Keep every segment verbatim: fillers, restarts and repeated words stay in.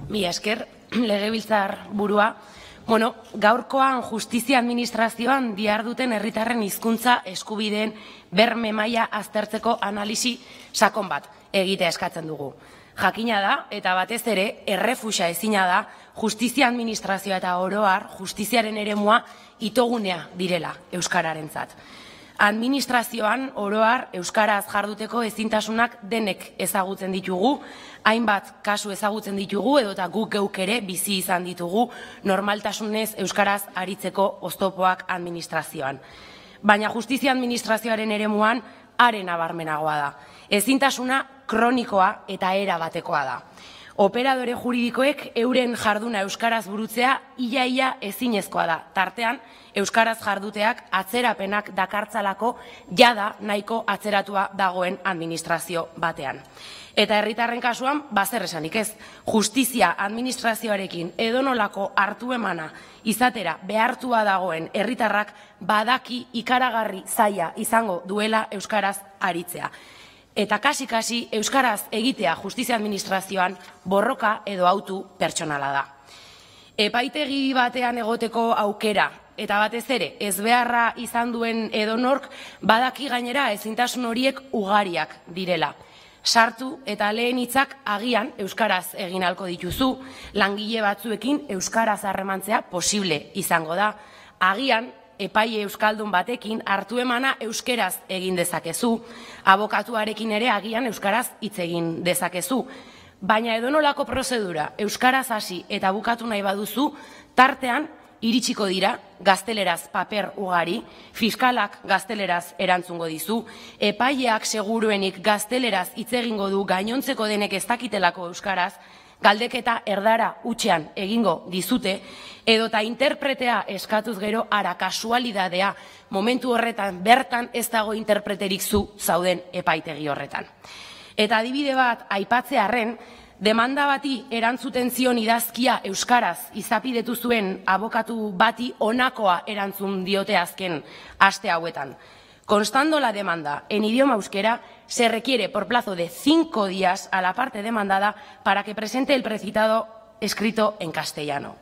Mila esker, legebiltzar burua. Bueno, gaurkoan justizia administrazioan diharduten herritarren hizkuntza eskubideen berme maila aztertzeko analisi sakon bat egitea eskatzen dugu. Jakina da, eta batez ere, errefusa ezina da, justizia administrazioa eta oro har, justiziaren eremua itogunea direla euskararentzat. Administrazioan oro har euskaraz jarduteko ezintasunak denek ezagutzen ditugu, hainbat kasu ezagutzen ditugu edota guk geuk ere bizi izan ditugu normaltasunez euskaraz aritzeko oztopoak administrazioan. Baina justizia administrazioaren eremuan are nabarmenagoa da. Ezintasuna kronikoa eta era batekoa da. Operadore juridikoek euren jarduna euskaraz burutzea ia-ia ezinezkoa da. Tartean, euskaraz jarduteak atzerapenak dakartzalako jada nahiko atzeratua dagoen administrazio batean. Eta herritarren kasuan, bazer esanik ez, justizia administrazioarekin edonolako hartu emana izatera behartua dagoen herritarrak badaki ikaragarri zaila izango duela euskaraz aritzea. Eta kasi-kasi euskaraz egitea justizia administrazioan borroka edo autu pertsonala da. Epaitegi batean egoteko aukera eta batez ere ezbeharra izan duen edonork badaki gainera ezintasun horiek ugariak direla. Sartu eta lehen hitzak agian euskaraz egin ahalko dituzu, langile batzuekin euskaraz harremantzea posible izango da. Agian epaile euskaldun batekin hartu emana euskeraz egin dezakezu, abokatuarekin ere agian euskaraz hitz egin dezakezu. Baina edonolako prozedura euskaraz hasi eta bukatu nahi baduzu, tartean iritsiko dira gazteleraz paper ugari, fiskalak gazteleraz erantzungo dizu, epaileak seguruenik gazteleraz hitz egingo du gainontzeko denek ez dakitelako euskaraz, galdeketa erdara hutsean egingo dizute, edota interpretea eskatuz gero ara kasualidadea momentu horretan bertan ez dago interpreterik zu zauden epaitegi horretan. Eta adibide bat aipatzearren, demanda bati erantzuten zion idazkia euskaraz izapidetu zuen abokatu bati honakoa erantzun diote azken aste hauetan. Constando la demanda en idioma euskera, se requiere por plazo de cinco días a la parte demandada para que presente el precitado escrito en castellano.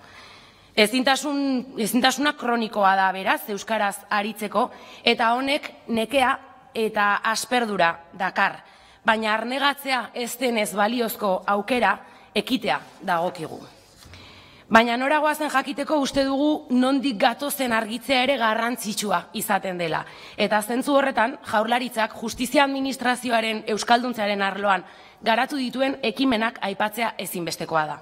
Ezintasun, ezintasuna kronikoa da beraz euskaraz aritzeko eta honek nekea eta asperdura dakar. Baina arnegatzea ez denez baliozko aukera ekitea dagokigu. Baina nora goazen jakiteko uste dugu nondik gatozen argitzea ere garrantzitsua izaten dela. Eta zentzu horretan Jaurlaritzak justizia administrazioaren euskalduntzearen arloan garatu dituen ekimenak aipatzea ezinbestekoa da.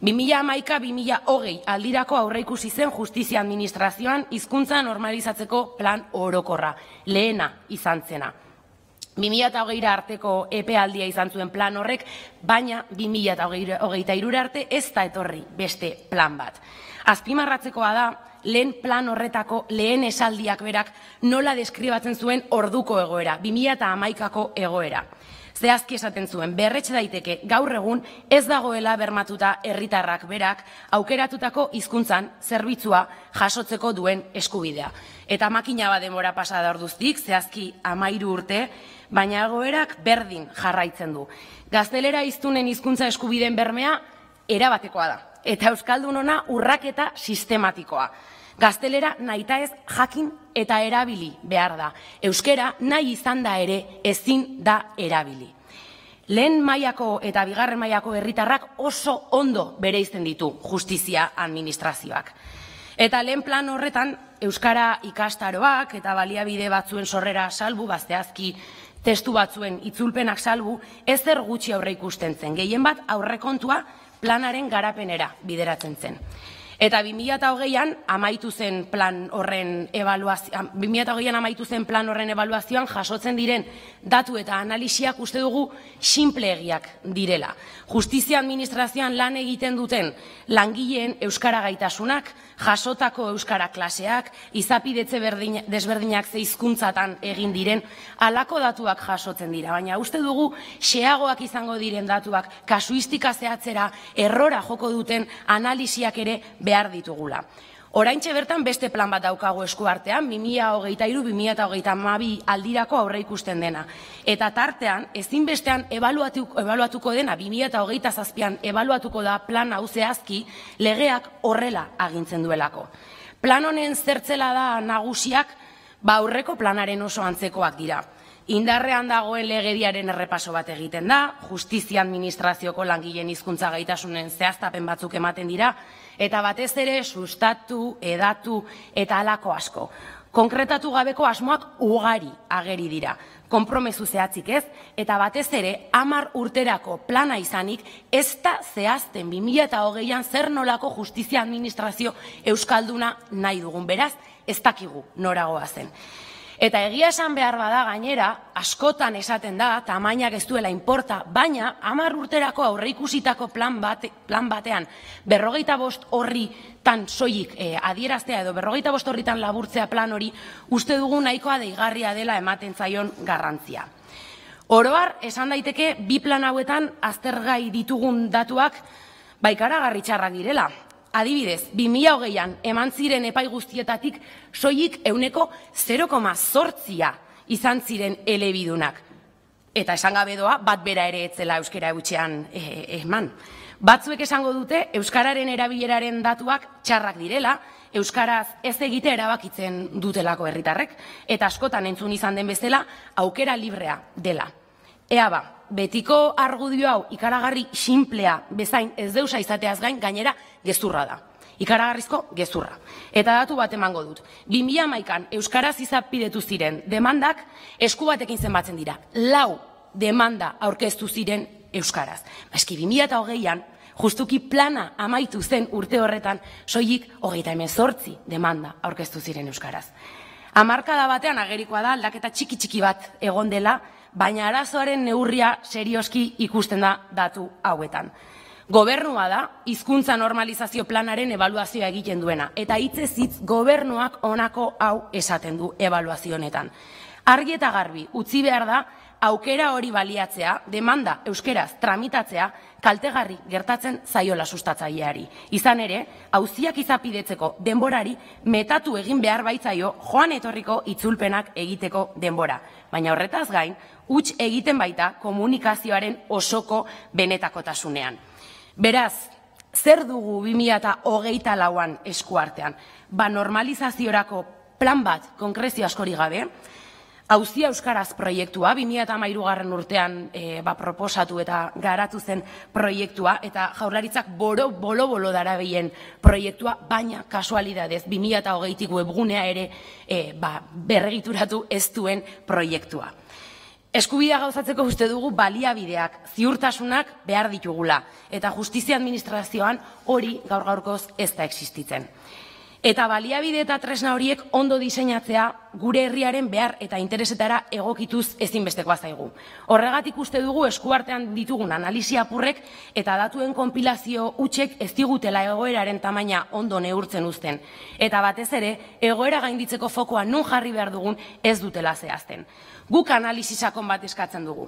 bi mila hamaika bi mila hogei aldirako aurreikusi zen justizia administrazioan hizkuntza normalizatzeko plan orokorra, lehena izan zena. bi mila hogeira arteko epealdia izan zuen plan horrek, baina bi mila hogeita hirura arte ez da etorri beste plan bat. Azpimarratzekoa da, lehen plan horretako lehen esaldiak berak nola deskribatzen zuen orduko egoera, bi mila hamaikako egoera. Zehazki esaten zuen, berretxe daiteke gaur egun ez dagoela bermatuta herritarrak berak aukeratutako hizkuntzan zerbitzua jasotzeko duen eskubidea. Eta makina bat denbora pasada orduztik, zehazki hamairu urte, baina egoerak berdin jarraitzen du. Gaztelera hiztunen hizkuntza eskubideen bermea erabatekoa da, eta euskaldun ona urraketa sistematikoa. Gaztelera nahita ez jakin eta erabili behar da. Euskera nahi izan da ere ezin da erabili. Lehen mailako eta bigarren mailako herritarrak oso ondo bereizten ditu justizia administrazioak. Eta lehen plan horretan euskara ikastaroak eta baliabide batzuen sorrera salbu, bazteazki testu batzuen itzulpenak salbu, ezer gutxi aurre ikusten zen. Gehien bat aurrekontua planaren garapenera bideratzen zen. Eta bi mila hogeian amaitu zen plan horren ebaluazioan, bi mila hogeian amaitu zen plan horren ebaluazioan jasotzen diren datu eta analisiak uste dugu sinpleegiak direla. Justizia administrazioan lan egiten duten langileen euskara gaitasunak, jasotako euskara klaseak, izapidetze desberdinak ze hizkuntzatan egin diren, halako datuak jasotzen dira. Baina uste dugu xeagoak izango diren datuak, kasuistika zehatzera, errora joko duten analisiak ere behar ditugula. Oraintxe bertan beste plan bat daukagu esku artean, bi mila hogeita hiru bi mila hogeita hamabi aldirako aurre ikusten dena. Eta tartean, ezinbestean ebaluatuko dena, bi mila hogeita zazpian ebaluatuko da plan hau zehazki, legeak horrela agintzen duelako. Plan honen zertzela da nagusiak, ba aurreko planaren oso antzekoak dira. Indarrean dagoen legediaren errepaso bat egiten da, justizia administrazioko langileen hizkuntza gaitasunen zehaztapen batzuk ematen dira, eta batez ere sustatu, edatu eta halako asko. Konkretatu gabeko asmoak ugari ageri dira, konpromezu zehatzik ez, eta batez ere hamar urterako plana izanik ez da zehazten bi mila hogeian zer nolako justizia administrazio euskalduna nahi dugun, beraz, ez dakigu noragoa zen. Eta egia esan behar bada gainera, askotan esaten da, tamainak ez duela inporta, baina hamar urterako aurreikusitako plan, bate, plan batean berrogeita bost horri tan soilik eh, adieraztea edo berrogeita bost horritan laburtzea plan hori, uste dugu nahikoa deigarria dela ematen zaion garrantzia. Oroar, esan daiteke, bi plan hauetan aztergai ditugun datuak baikaragarri txarrak direla. Adibidez, bi mila hogeian eman ziren epai guztietatik soilik ehuneko zero koma zortzia izan ziren elebidunak. Eta esan gabe doa, bat bera ere etzela euskara eutxean eman. Batzuek esango dute, euskararen erabileraren datuak txarrak direla, euskaraz ez egite erabakitzen dutelako herritarrek, eta askotan entzun izan den bezala, aukera librea dela. Ea ba, betiko argudio hau ikaragarri sinplea bezain ez deusa izateaz gain gainera gezurra da. Ikaragarrizko gezurra. Eta datu bat emango dut. bi mila hamaikan euskaraz izapidetu ziren demandak esku batekin zenbatzen dira. Lau demanda aurkeztu ziren euskaraz. Eski bi mila hogeian justuki plana amaitu zen urte horretan soilik hogeita hemezortzi demanda aurkeztu ziren euskaraz. Hamarkada batean agerikoa da aldaketa txiki txiki bat egon dela, baina arazoaren neurria serioski ikusten da datu hauetan. Gobernua da, hizkuntza normalizazio planaren ebaluazioa egiten duena, eta hitzez hitz gobernuak honako hau esaten du ebaluazio honetan. Argi eta garbi, utzi behar da, aukera hori baliatzea, demanda euskeraz tramitatzea, kaltegarri gertatzen zaiola sustatzaileari. Izan ere, auziak izapidetzeko denborari metatu egin behar baitzaio joan etorriko itzulpenak egiteko denbora. Baina horretaz gain, huts egiten baita komunikazioaren osoko benetakotasunean. Beraz, zer dugu bi mila hogeita lauan esku artean? Ba normalizaziorako plan bat konkrezio askori gabe, Auzia Euskaraz proiektua, bi mila hamairugarren urtean e, ba, proposatu eta garatu zen proiektua, eta Jaurlaritzak bolo-bolo darabilen proiektua, baina kasualidadez bi mila hogeitik webgunea ere e, ba, berregituratu ez duen proiektua. Eskubidea gauzatzeko uste dugu baliabideak, ziurtasunak behar ditugula, eta justizia administrazioan hori gaur gaurkoz ez da existitzen. Eta baliabide eta tresna horiek ondo diseinatzea gure herriaren behar eta interesetara egokituz ezinbestekoa zaigu. Horregatik uste dugu eskuartean ditugun analisia apurrek eta datuen konpilazio hutsek ez digutela egoeraren tamaina ondo neurtzen uzten. Eta batez ere, egoera gainditzeko fokoa nun jarri behar dugun ez dutela zehazten. Guk analisi sakon bat eskatzen dugu.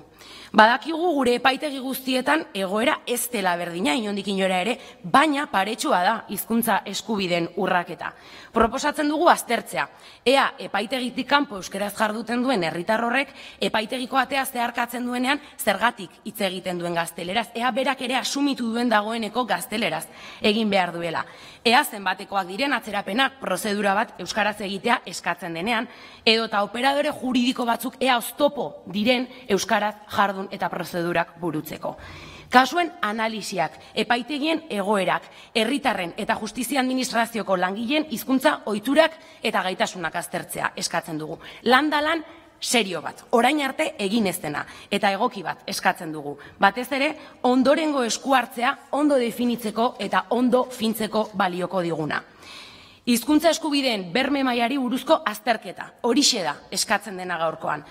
Badakigu gure epaitegi guztietan egoera ez dela berdina inondik inora ere, baina paretsua da hizkuntza eskubideen urraketa. Proposatzen dugu aztertzea. Ea epaitegitik kanpo euskeraz jarduten duen herritar horrek epaitegiko atea zeharkatzen duenean zergatik hitz egiten duen gazteleraz. Ea berak ere asumitu duen dagoeneko gazteleraz egin behar duela. Ea zenbatekoak diren atzerapenak prozedura bat euskaraz egitea eskatzen denean, edota operadore juridiko batzuk ea oztopo diren euskaraz jardun eta prozedurak burutzeko. Kasuen analisiak, epaitegien egoerak, herritarren eta justizia administrazioko langileen hizkuntza ohiturak eta gaitasunak aztertzea eskatzen dugu. Landalan serio bat, orain arte egin ez dena, eta egoki bat eskatzen dugu. Batez ere, ondorengo esku hartzea ondo definitzeko eta ondo fintzeko balioko diguna. Hizkuntza eskubideen berme mailari buruzko azterketa, horixe da eskatzen dena gaurkoan.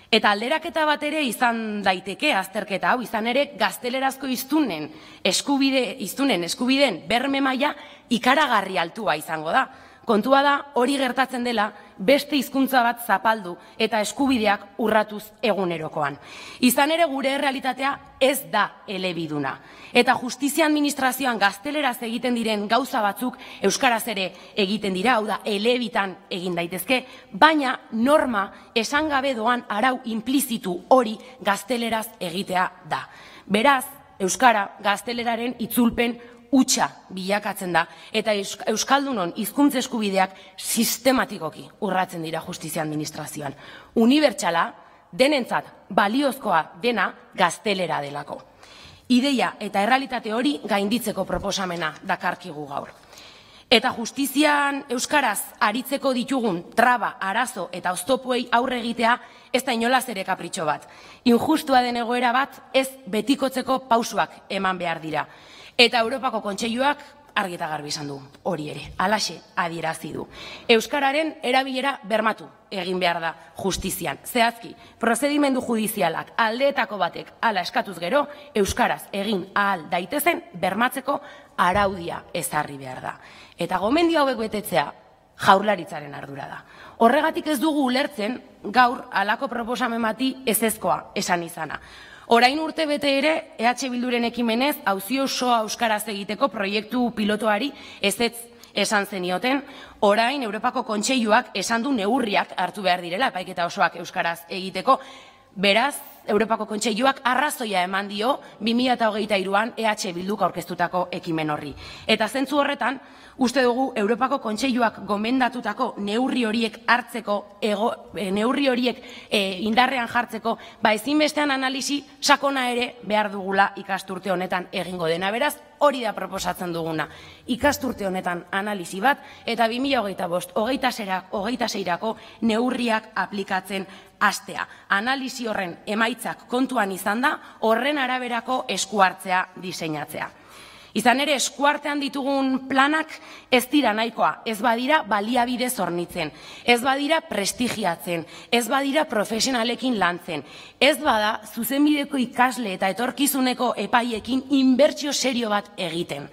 Eta alderaketa bat ere izan daiteke azterketa hau, izan ere gaztelerazko hiztunen eskubide, hiztunen eskubideen berme maila ikaragarri altua izango da. kontua da hori gertatzen dela beste hizkuntza bat zapaldu eta eskubideak urratuz egunerokoan. Izan ere gure errealitatea ez da elebiduna. Eta justizia administrazioan gazteleraz egiten diren gauza batzuk euskaraz ere egiten dira, hau da, elebitan egin daitezke, baina norma esan gabe doan arau implizitu hori gazteleraz egitea da. Beraz, euskara gazteleraren itzulpen hutsa bilakatzen da, eta euskaldunon hizkuntza eskubideak sistematikoki urratzen dira justizia administrazioan. Unibertsala, denentzat baliozkoa dena gaztelera delako. Ideia eta errealitate hori gainditzeko proposamena dakarkigu gaur. Eta justizian euskaraz aritzeko ditugun traba, arazo eta oztopoei aurre egitea ez da inolaz ere kapritxo bat. Injustua den egoera bat ez betikotzeko pausuak eman behar dira. Eta Europako Kontseiluak argi eta garbi izan du hori ere, halaxe adierazi du. Euskararen erabilera bermatu egin behar da justizian. Zehazki, prozedimendu judizialak aldeetako batek hala eskatuz gero, euskaraz egin ahal daitezen bermatzeko araudia ezarri behar da. Eta gomendio hauek betetzea Jaurlaritzaren ardura da. Horregatik ez dugu ulertzen gaur halako proposamen bati ezezkoa esan izana. Orain urte bete ere, E H Bilduren ekimenez, auzi osoa euskaraz egiteko proiektu pilotoari ezetz esan zenioten, orain Europako Kontseiluak esan du neurriak hartu behar direla, epaiketa osoak euskaraz egiteko, beraz, Europako Kontseiluak arrazoia eman dio bi mila hogeita hiruan E H Bilduk aurkeztutako ekimen horri. Eta zentzu horretan, uste dugu Europako Kontseiluak gomendatutako neurri horiek hartzeko, ego, e, neurri horiek e, indarrean jartzeko, ba ezinbestean analisi sakona ere behar dugula ikasturte honetan egingo dena. Beraz, hori da proposatzen duguna. Ikasturte honetan analisi bat, eta bi mila hogeita bost, hogeita seirako neurriak aplikatzen hastea. Analisi horren emaitzak kontuan izan da, horren araberako eskuartzea diseinatzea. Izan ere, eskuartean ditugun planak ez dira nahikoa, ez badira baliabide zornitzen, ez badira prestigiatzen, ez badira profesionalekin lantzen, ez bada zuzenbideko ikasle eta etorkizuneko epaiekin inbertsio serio bat egiten.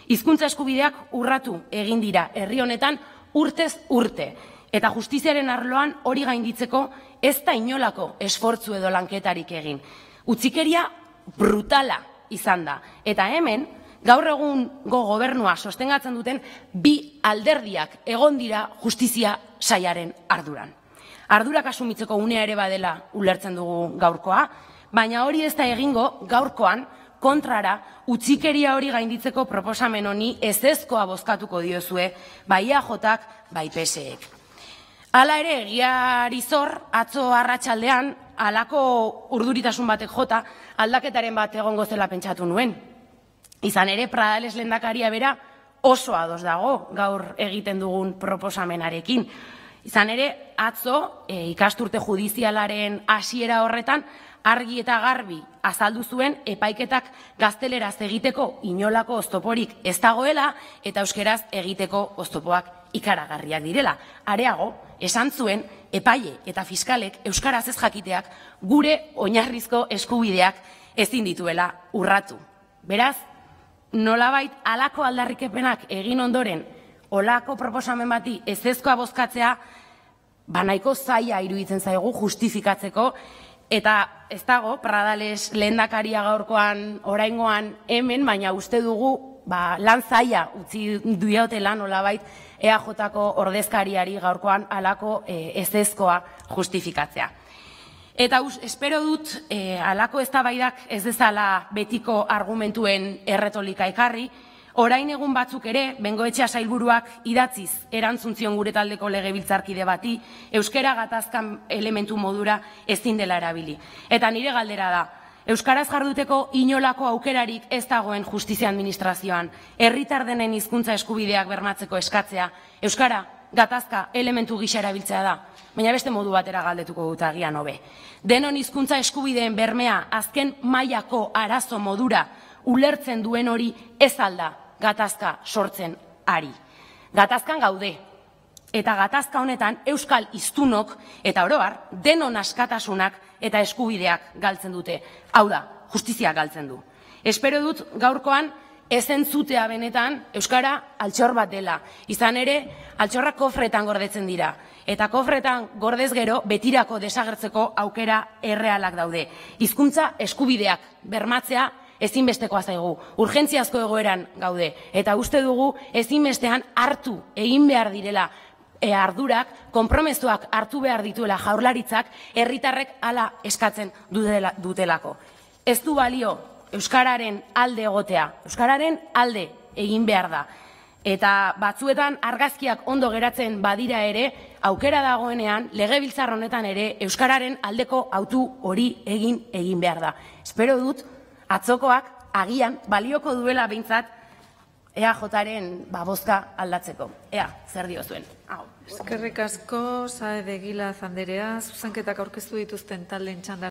Hizkuntza eskubideak urratu egin dira herri honetan urtez urte, eta justiziaren arloan hori gainditzeko ez da inolako esfortzu edo lanketarik egin. Utzikeria brutala izan da, eta hemen, gaur egungo gobernua sostengatzen duten bi alderdiak egon dira justizia sailaren arduran. Ardurak asumitzeko unea ere badela ulertzen dugu gaurkoa, baina hori ez da egingo gaurkoan kontrara utzikeria hori gainditzeko proposamen honi ezezkoa bozkatuko diozue bai E A Jak, bai P S Ek. Hala ere, egiari zor, atzo arratsaldean halako urduritasun batek jota aldaketaren bat egongo zela pentsatu nuen. Izan ere, Pradales lehendakaria bera oso ados dago gaur egiten dugun proposamenarekin. Izan ere, atzo e, ikasturte judizialaren hasiera horretan argi eta garbi azaldu zuen epaiketak gazteleraz egiteko inolako oztoporik ez dagoela eta euskeraz egiteko oztopoak ikaragarriak direla. Areago, esan zuen epaile eta fiskalek euskaraz ez jakiteak gure oinarrizko eskubideak ezin dituela urratu. Beraz, nolabait halako aldarrikepenak egin ondoren holako proposamen bati ezezkoa bozkatzea ba nahiko zaila iruditzen zaigu justifikatzeko, eta ez dago Pradales lehendakaria gaurkoan oraingoan hemen, baina uste dugu ba, lan zaila utzi duiotela nolabait E A Jko ordezkariari gaurkoan halako e, ezezkoa justifikatzea. Eta us, espero dut e, halako eztabaidak ez dezala betiko argumentuen erretolika ekarri, orain egun batzuk ere, Bengoetxea sailburuak idatziz erantzun gure taldeko legebiltzarkide bati, euskara gatazkan elementu modura ezin dela erabili. Eta nire galdera da, euskaraz jarduteko inolako aukerarik ez dagoen justizia administrazioan, herritar denen hizkuntza eskubideak bermatzeko eskatzea, euskara gatazka elementu gisa erabiltzea da, baina beste modu batera galdetuko dut agian hobe. Denon hizkuntza eskubideen bermea azken mailako arazo modura ulertzen duen hori ez alda gatazka sortzen ari. Gatazkan gaude, eta gatazka honetan euskal hiztunok eta oro har denon askatasunak eta eskubideak galtzen dute. Hau da, justizia galtzen du. Espero dut gaurkoan ez entzutea benetan euskara altxor bat dela. Izan ere, altxorrak kofretan gordetzen dira. Eta kofretan gordez gero betirako desagertzeko aukera errealak daude. Hizkuntza eskubideak bermatzea ezinbestekoa zaigu. Urgentziazko egoeran gaude. Eta uste dugu ezinbestean hartu egin behar direla E, ardurak, konpromezuak hartu behar dituela jaurlaritzak, herritarrek hala eskatzen dutela, dutelako. Ez du balio euskararen alde egotea, euskararen alde egin behar da. Eta batzuetan argazkiak ondo geratzen badira ere, aukera dagoenean, legebiltzar honetan ere, euskararen aldeko autu hori egin egin behar da. Espero dut, atzokoak agian balioko duela behintzat, E A Jaren bozka aldatzeko. Ea, zer dio zuen. Eskerrik asko, Saez de Egilaz anderea, zuzenketak aurkeztu dituzten taldeen txanda